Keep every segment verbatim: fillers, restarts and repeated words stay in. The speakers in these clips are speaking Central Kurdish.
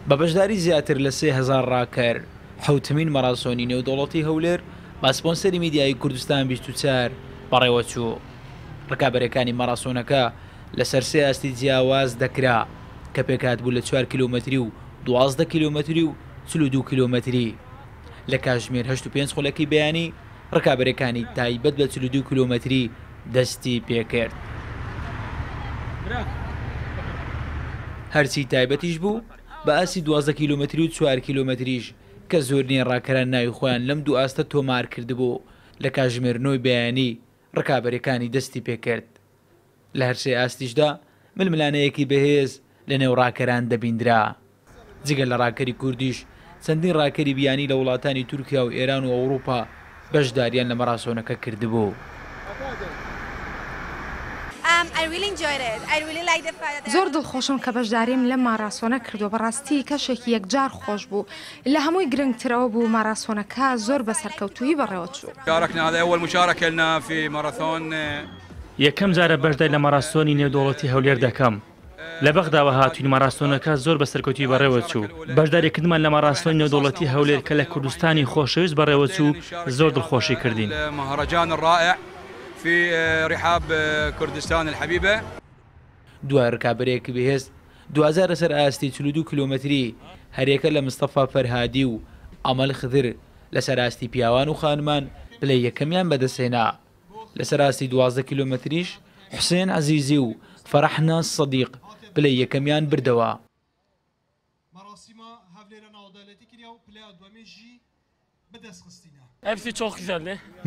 بە بەشداری زیاتر لە سێ هەزار ڕاکەر، حەوتەمین مەراسۆنی نێودەوڵەتی هەولێر بە سپۆنسەری میدیایی کوردستان بیست و چوار بەڕێوەچوو. ڕکابەرەکانی مەراسۆنەکە لەسەر سێ ئاستی جیاواز دەکرا کە پێکهاتبوو لە چوار کیلۆمەتری و دوازدە کیلۆمەتری و چل و دوو کیلۆمەتری. لە کاتژمێر هەشت و پێنج خولەکی بەیانی ڕکابەرەکانی تایبەت بە چل و دوو کیلۆمەتری دەستی پێکرد. هەرچی تایبەتیش بوو بە ئاستی دوازدە کیلۆمەتری و چوار کیلۆمەتریش کە زۆرینەی ڕاکەران ناوی خۆیان لەم دوو ئاستە تۆمار کردبوو، لە کاتژمێر نۆی بەیانی ڕکابەرەکانی دەستی پێکرد. لە هەرسێ ئاستیشدا ململانەیەکی بەهێز لە نێو ڕاکەران دەبیندرا. جگە لە ڕاکەری کوردیش چەندین ڕاکەری بیانی لە وڵاتانی تورکیا و ئێران و ئەوروپا بەشداریان لە مەراسۆنەکە کردبوو. زۆر دڵخۆشم کە بەشداریم لەم ماراسۆنە کردووە، بەڕاستی کەشێکی یەکجار خۆش بوو. لە هەمووی گرنگترەوە بوو ماراسۆنەکە زۆر بە سەرکەوتوویی بەڕێوەچوو. یەکەم جارە بەشداری لە ماراسۆنی نێودەوڵەتی هەولێر دەکەم. لە بەغداوە هاتوین، ماراسۆنەکە زۆر بە سەرکەوتوویی بەڕێوەچوو. بەشداریکردمان لە ماراسۆنی نێودەوڵەتی هەولێر کە لە کوردستانی خۆشەویست بەڕێوەچوو زۆر دڵخۆشی کردین. دوای ڕکابەرێکی بەهێز دوازار لەسەر ئاستی چل و دوو کیلۆمەتری هەرێکە لە مستەفا فەرهادی و ئەمەل خدر لەسەر ئاستی پیاوان و خانمان پلەی یەکەمیان بەدەستهێنا. لەسەر ئاستی دوازدە کیلۆمەتریش حوسێن عەزیزی و فەرحنا سەدیق پلەی یەکەمیان بردەوە.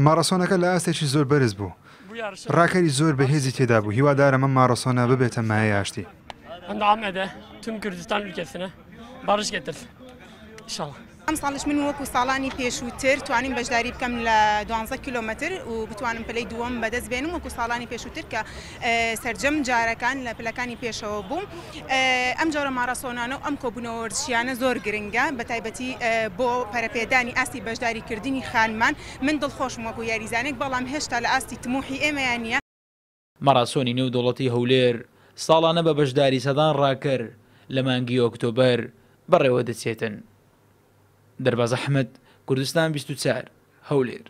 ماراسۆنەکە لە ئاستێکی زۆر بەرز بوو، ڕاکەری زۆر بەهێزی تێدا بوو. هیوادارم ئەم ماراسۆنە ببێتە مایەی ئاشتی. ئەمساڵیش من وەکو ساڵانی پێشووتر توانیم بەشداری بکەم لە دوانزە کیلۆمەتر و بتوانم پلەی دووەم بەدەست بێنم وەکو ساڵانی پێشووتر کە سەرجەم جارەکان لە پلەکانی پێشەوە بووم. ئەم جۆرە ماراسۆنانە و ئەم کۆبوونەوە وەرزشیانە زۆر گرنگە، بە تایبەتی بۆ پەرەپێدانی ئاستی بەشداریکردنی خانمان. من دڵخۆشم وەکو یاریزانێک، بەڵام هێشتا لە ئاستی تموحی ئێمەیان نییە. ماراسۆنی نێودەوڵەتی هەولێر ساڵانە بە بەشداری سەدان ڕاکەر لە مانگی ئۆکتۆبەر بەڕێوە دەچێتن. دەرباز ئەحمەد، کوردستان بیست و چوار، هەولێر.